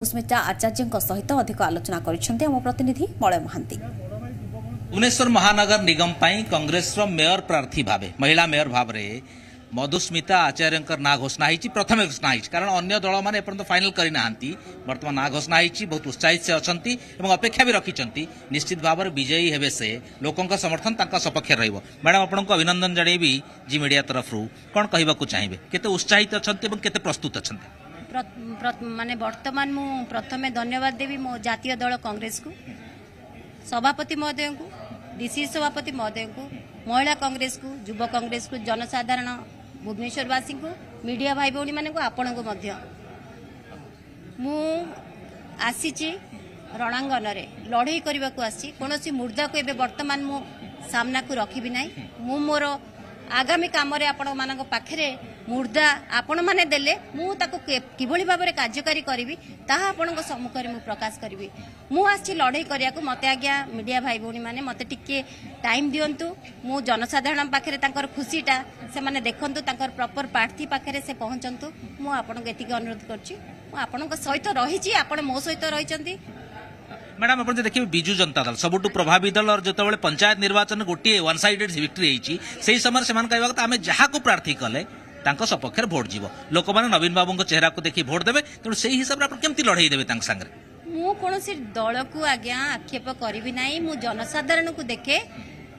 ମଧୁସ୍ମିତା ଆଚାର୍ଯ୍ୟଙ୍କ ସହିତ ଅଧିକ ଆଲୋଚନା କରିଛନ୍ତି ଆମ ପ୍ରତିନିଧି ମଳୟ ମହାନ୍ତି। ଭୁବନେଶ୍ୱର ମହାନଗର ନିଗମ ପାଇଁ କଂଗ୍ରେସର ମେୟର ପ୍ରାର୍ଥୀ ଭାବେ, ମହିଳା ମେୟର ଭାବରେ ମଧୁସ୍ମିତା ଆଚାର୍ଯ୍ୟଙ୍କର ନାଁ ଘୋଷଣା ହେଇଛି। ପ୍ରଥମେ ଘୋଷଣା ହେଇଛି, କାରଣ ଅନ୍ୟ ଦଳମାନେ ଏପର୍ଯ୍ୟନ୍ତ ଫାଇନାଲ କରିନାହାନ୍ତି। ବର୍ତ୍ତମାନ ନାଁ ଘୋଷଣା ହେଇଛି, ବହୁତ ଉତ୍ସାହିତ ସେ ଅଛନ୍ତି ଏବଂ ଅପେକ୍ଷା ବି ରଖିଛନ୍ତି। ନିଶ୍ଚିତ ଭାବରେ ବିଜୟୀ ହେବେ ସେ, ଲୋକଙ୍କ ସମର୍ଥନ ତାଙ୍କ ସପକ୍ଷରେ ରହିବ। ମ୍ୟାଡାମ, ଆପଣଙ୍କୁ ଅଭିନନ୍ଦନ ଜଣେଇବି ଜି ମିଡିଆ ତରଫରୁ। କ'ଣ କହିବାକୁ ଚାହିଁବେ, କେତେ ଉତ୍ସାହିତ ଅଛନ୍ତି ଏବଂ କେତେ ପ୍ରସ୍ତୁତ ଅଛନ୍ତି? ମାନେ ବର୍ତ୍ତମାନ ମୁଁ ପ୍ରଥମେ ଧନ୍ୟବାଦ ଦେବି ମୋ ଜାତୀୟ ଦଳ କଂଗ୍ରେସକୁ, ସଭାପତି ମହୋଦୟଙ୍କୁ, ଡିସିସି ସଭାପତି ମହୋଦୟଙ୍କୁ, ମହିଳା କଂଗ୍ରେସକୁ, ଯୁବ କଂଗ୍ରେସକୁ, ଜନସାଧାରଣ ଭୁବନେଶ୍ୱରବାସୀଙ୍କୁ, ମିଡ଼ିଆ ଭାଇ ଭଉଣୀମାନଙ୍କୁ, ଆପଣଙ୍କୁ ମଧ୍ୟ। ମୁଁ ଆସିଛି ରଣାଙ୍ଗନରେ ଲଢ଼େଇ କରିବାକୁ ଆସିଛି। କୌଣସି ମୁର୍ଦ୍ଦାକୁ ଏବେ ବର୍ତ୍ତମାନ ମୁଁ ସାମ୍ନାକୁ ରଖିବି ନାହିଁ। ମୁଁ ମୋର ଆଗାମୀ କାମରେ ଆପଣମାନଙ୍କ ପାଖରେ ମୁର୍ଦ୍ଦା ଆପଣମାନେ ଦେଲେ ମୁଁ ତାକୁ କିଭଳି ଭାବରେ କାର୍ଯ୍ୟକାରୀ କରିବି, ତାହା ଆପଣଙ୍କ ସମ୍ମୁଖରେ ମୁଁ ପ୍ରକାଶ କରିବି। ମୁଁ ଆସିଛି ଲଢ଼େଇ କରିବାକୁ। ମୋତେ ଆଜ୍ଞା ମିଡ଼ିଆ ଭାଇ ଭଉଣୀମାନେ ମୋତେ ଟିକେ ଟାଇମ୍ ଦିଅନ୍ତୁ। ମୁଁ ଜନସାଧାରଣ ପାଖରେ ତାଙ୍କର ଖୁସିଟା ସେମାନେ ଦେଖନ୍ତୁ, ତାଙ୍କର ପ୍ରପର ପ୍ରାର୍ଥୀ ପାଖରେ ସେ ପହଞ୍ଚନ୍ତୁ। ମୁଁ ଆପଣଙ୍କୁ ଏତିକି ଅନୁରୋଧ କରୁଛି। ମୁଁ ଆପଣଙ୍କ ସହିତ ରହିଛି, ଆପଣ ମୋ ସହିତ ରହିଛନ୍ତି। ମ୍ୟାଡାମ, ଆପଣ ଯଦି ଦେଖିବେ ବିଜୁ ଜନତା ଦଳ ସବୁଠୁ ପ୍ରଭାବୀ ଦଳ, ଯେତେବେଳେ ପଞ୍ଚାୟତ ନିର୍ବାଚନ ଗୋଟିଏ ୱାନ୍ ସାଇଡେଡ୍ ଭିକ୍ଟ୍ରି ହେଇଛି, ସେହି ସମୟରେ ସେମାନେ କହିବା କଥା ଆମେ ଯାହାକୁ ପ୍ରାର୍ଥୀ କଲେ ତାଙ୍କ ସପକ୍ଷରେ ଭୋଟ ଯିବ, ଲୋକମାନେ ନବୀନ ବାବୁଙ୍କ ଚେହେରାକୁ ଦେଖି ଭୋଟ ଦେବେ। ତେଣୁ ସେଇ ହିସାବରେ ଆପଣ କେମିତି ଲଢ଼େଇ ଦେବେ ତାଙ୍କ ସାଙ୍ଗରେ? ମୁଁ କୌଣସି ଦଳକୁ ଆଜ୍ଞା ଆକ୍ଷେପ କରିବି ନାହିଁ। ମୁଁ ଜନସାଧାରଣଙ୍କୁ ଦେଖେ।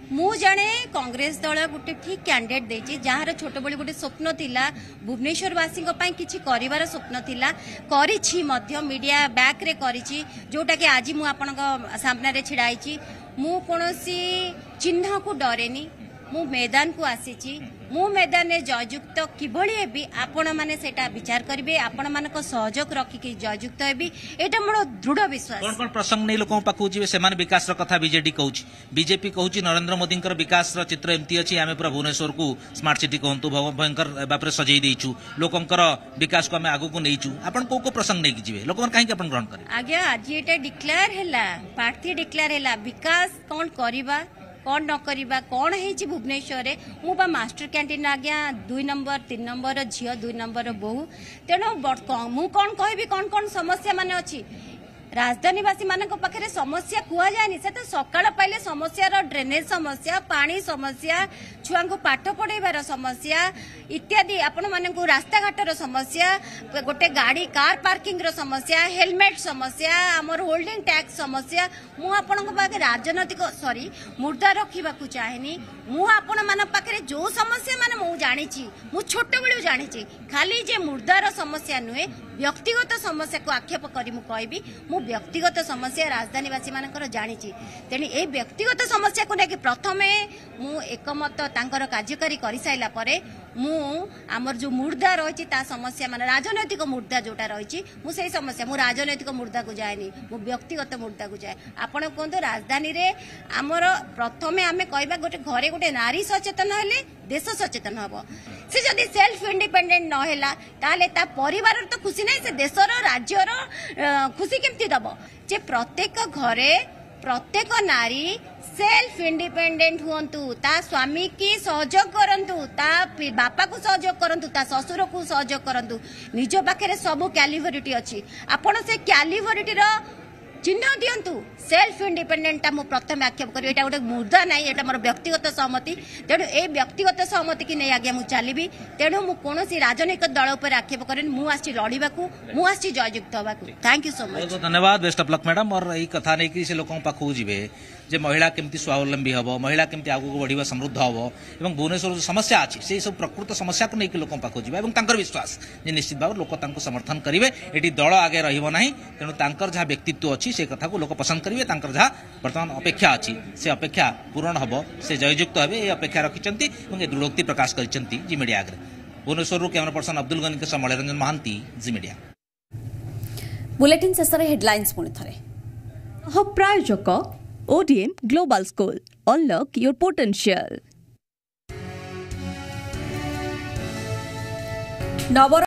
ମୁଁ ଜାଣେ କଂଗ୍ରେସ ଦଳ ଗୋଟେ ଠିକ୍ କ୍ୟାଣ୍ଡିଡେଟ୍ ଦେଇଛି, ଯାହାର ଛୋଟବେଳୁ ଗୋଟେ ସ୍ୱପ୍ନ ଥିଲା, ଭୁବନେଶ୍ୱରବାସୀଙ୍କ ପାଇଁ କିଛି କରିବାର ସ୍ୱପ୍ନ ଥିଲା, କରିଛି ମଧ୍ୟ, ମିଡ଼ିଆ ବ୍ୟାକ୍ରେ କରିଛି, ଯୋଉଟାକି ଆଜି ମୁଁ ଆପଣଙ୍କ ସାମ୍ନାରେ ଛିଡ଼ା ହେଇଛି। ମୁଁ କୌଣସି ଚିହ୍ନକୁ ଡରେନି। ମୁଁ ମଇଦାନକୁ ଆସିଛି। ମୁଁ ମଇଦାନରେ ଜୟଯୁକ୍ତ କିଭଳି ହେବି, ଆପଣମାନେ ସେଇଟା ବିଚାର କରିବେ। ଆପଣମାନଙ୍କ ସହଯୋଗ ରଖିକି ଜୟଯୁକ୍ତ ହେବି, ଏଇଟା ମୋର ଦୃଢ଼ ବିଶ୍ୱାସ। କ'ଣ କ'ଣ ପ୍ରସଙ୍ଗ ନେଇ ଲୋକଙ୍କ ପାଖକୁ ଯିବେ ସେମାନେ? ବିକାଶର କଥା ବିଜେଡି କହୁଛି, ବିଜେପି କହୁଛି ନରେନ୍ଦ୍ର ମୋଦିଙ୍କର ବିକାଶର ଚିତ୍ର ଏମିତି ଅଛି, ଆମେ ପୁରା ଭୁବନେଶ୍ୱରକୁ ସ୍ମାର୍ଟ ସିଟି କୁହନ୍ତୁ ଭୟଙ୍କର ଭାବରେ ସଜେଇ ଦେଇଛୁ, ଲୋକଙ୍କର ବିକାଶକୁ ଆମେ ଆଗକୁ ନେଇଛୁ। ଆପଣ କୋଉ କୋଉ ପ୍ରସଙ୍ଗ ନେଇକି ଯିବେ, ଲୋକମାନେ କାହିଁକି ଆପଣ ଗ୍ରହଣ କରିବେ? ଆଜ୍ଞା, ଆଜି ଏଇଟା ଡିକ୍ଲେୟାର ହେଲା, ପ୍ରାର୍ଥୀ ଡିକ୍ଲେୟାର ହେଲା, ବିକାଶ କ'ଣ କରିବା କ'ଣ ନ କରିବା, କ'ଣ ହେଇଛି ଭୁବନେଶ୍ୱରରେ। ମୁଁ ବା ମାଷ୍ଟର କ୍ୟାଣ୍ଟିନ୍ ଆଜ୍ଞା 2 ନମ୍ବର 3 ନମ୍ବର ଝିଅ, 2 ନମ୍ବର ବୋହୂ। ତେଣୁ ମୁଁ କ'ଣ କହିବି କ'ଣ କ'ଣ ସମସ୍ୟା ମାନେ ଅଛି? ରାଜଧାନୀବାସୀମାନଙ୍କ ପାଖରେ ସମସ୍ୟା କୁହାଯାଏନି। ସେ ତ ସକାଳ ପାଇଲେ ସମସ୍ୟାର ଡ୍ରେନେଜ ସମସ୍ୟା, ପାଣି ସମସ୍ୟା, ଛୁଆଙ୍କୁ ପାଠ ପଢ଼େଇବାର ସମସ୍ୟା ଇତ୍ୟାଦି, ଆପଣମାନଙ୍କୁ ରାସ୍ତାଘାଟର ସମସ୍ୟା, ଗୋଟେ ଗାଡ଼ି କାର୍ ପାର୍କିଂର ସମସ୍ୟା, ହେଲମେଟ୍ ସମସ୍ୟା, ଆମର ହୋଲ୍ଡିଂ ଟ୍ୟାକ୍ସ ସମସ୍ୟା। ମୁଁ ଆପଣଙ୍କ ପାଖରେ ରାଜନୈତିକ ସରି ମୁଦ୍ଦା ରଖିବାକୁ ଚାହେଁନି। ମୁଁ ଆପଣମାନଙ୍କ ପାଖରେ ଯୋଉ ସମସ୍ୟା ମାନେ ମୁଁ ଜାଣିଛି, ମୁଁ ଛୋଟବେଳୁ ଜାଣିଛି, ଖାଲି ଯେ ମୁଦ୍ଦାର ସମସ୍ୟା ନୁହେଁ, ବ୍ୟକ୍ତିଗତ ସମସ୍ୟାକୁ ଆକ୍ଷେପ କରି ମୁଁ କହିବି, ମୁଁ ବ୍ୟକ୍ତିଗତ ସମସ୍ୟା ରାଜଧାନୀବାସୀମାନଙ୍କର ଜାଣିଛି। ତେଣୁ ଏଇ ବ୍ୟକ୍ତିଗତ ସମସ୍ୟାକୁ ନେଇକି ପ୍ରଥମେ ମୁଁ ଏକମତ ତାଙ୍କର କାର୍ଯ୍ୟକାରୀ କରିସାରିଲା ପରେ ମୁଁ ଆମର ଯୋଉ ମୁର୍ଦ୍ଦା ରହିଛି ତା ସମସ୍ୟା, ମାନେ ରାଜନୈତିକ ମୁର୍ଦ୍ଦା ଯୋଉଟା ରହିଛି, ମୁଁ ସେଇ ସମସ୍ୟା, ମୁଁ ରାଜନୈତିକ ମୁର୍ଦ୍ଦାକୁ ଯାଏନି, ମୁଁ ବ୍ୟକ୍ତିଗତ ମୁର୍ଦ୍ଦାକୁ ଯାଏ। ଆପଣ କୁହନ୍ତୁ, ରାଜଧାନୀରେ ଆମର ପ୍ରଥମେ ଆମେ କହିବା ଗୋଟେ ଘରେ ଗୋଟେ ନାରୀ ସଚେତନ ହେଲେ ଦେଶ ସଚେତନ ହବ। ସେ ଯଦି ସେଲ୍ଫ ଇଣ୍ଡିପେଣ୍ଡେଣ୍ଟ ନ ହେଲା, ତାହେଲେ ତା ପରିବାରର ତ ଖୁସି ନାହିଁ, ସେ ଦେଶର ରାଜ୍ୟର ଖୁସି କେମିତି ଦବ? ଯେ ପ୍ରତ୍ୟେକ ଘରେ ପ୍ରତ୍ୟେକ ନାରୀ ସେଲ୍ଫ ଇଣ୍ଡିପେଣ୍ଡେଣ୍ଟ ହୁଅନ୍ତୁ, ତା ସ୍ୱାମୀକି ସହଯୋଗ କରନ୍ତୁ, ତା ବାପାକୁ ସହଯୋଗ କରନ୍ତୁ, ତା ଶ୍ୱଶୁରକୁ ସହଯୋଗ କରନ୍ତୁ। ନିଜ ପାଖରେ ସବୁ କ୍ୟାଲିଭରିଟି ଅଛି, ଆପଣ ସେ କ୍ୟାଲିଭରିଟିର ଚିହ୍ନ ଦିଅନ୍ତୁ। ସେଲ୍ଫ ଇଣ୍ଡିପେଣ୍ଡେଣ୍ଟଟା ମୁଁ ପ୍ରଥମେ ଆକ୍ଷେପ କରିବି। ଏଇଟା ଗୋଟେ ମୁଦ୍ଦା ନାହିଁ, ଏଇଟା ମୋର ବ୍ୟକ୍ତିଗତ ସହମତି। ତେଣୁ ଏଇ ବ୍ୟକ୍ତିଗତ ସହମତିକି ନେଇ ଆଜ୍ଞା ମୁଁ ଚାଲିବି। ତେଣୁ ମୁଁ କୌଣସି ରାଜନୈତିକ ଦଳ ଉପରେ ଆକ୍ଷେପ କରେନି। ମୁଁ ଆସିଛି ଲଢ଼ିବାକୁ, ମୁଁ ଆସିଛି ଜୟଯୁକ୍ତ ହେବାକୁ। Thank you so much. ଧନ୍ୟବାଦ, ବେଷ୍ଟ ଅଫ୍ ଲକ୍ ମ୍ୟାଡାମ। ମୋର ଏଇ କଥା ନେଇକି ସେ ଲୋକଙ୍କ ପାଖକୁ ଯିବେ ଯେ ମହିଳା କେମିତି ସ୍ୱାବଲମ୍ବୀ ହେବ, ମହିଳା କେମିତି ଆଗକୁ ବଢ଼ିବ, ସମୃଦ୍ଧ ହେବ ଏବଂ ଭୁବନେଶ୍ୱର ଯେଉଁ ସମସ୍ୟା ଅଛି ସେଇ ସବୁ ପ୍ରକୃତ ସମସ୍ୟାକୁ ନେଇକି ଲୋକଙ୍କ ପାଖକୁ ଯିବେ ଏବଂ ତାଙ୍କର ବିଶ୍ୱାସ ଯେ ନିଶ୍ଚିତ ଭାବରେ ଲୋକ ତାଙ୍କୁ ସମର୍ଥନ କରିବେ। ଏଠି ଦଳ ଆଗେ ରହିବ ନାହିଁ। ତେଣୁ ତାଙ୍କର ଯାହା ବ୍ୟକ୍ତିତ୍ୱ ଅଛି ସେ କଥାକୁ ଲୋକ ପସନ୍ଦ କରିବେ। ତାଙ୍କର ଯାହା ବର୍ତ୍ତମାନ ଅପେକ୍ଷା ଅଛି ସେ ଅପେକ୍ଷା ପୂରଣ ହେବ, ସେ ଜୟଯୁକ୍ତ ହେବେ, ଏ ଅପେକ୍ଷା ରଖିଛନ୍ତି ଏବଂ ଏ ଦୃଢ଼ୋକ୍ତି ପ୍ରକାଶ କରିଛନ୍ତି ଜି ମିଡ଼ିଆ ଆଗରେ। ଭୁବନେଶ୍ୱରରୁ କ୍ୟାମେରା ପର୍ସନ ଅବ୍ଦୁଲ ଗନିଙ୍କ ସହ ମଳୟରଞ୍ଜନ ମହାନ୍ତି, ଜି ମିଡ଼ିଆ। ବୁଲେଟିନ୍ ଶେଷରେ ହେଡଲାଇନ୍ସ ପୁଣି ଥରେ। ପ୍ରାୟୋଜକ ODM Global School. Unlock your potential. Naba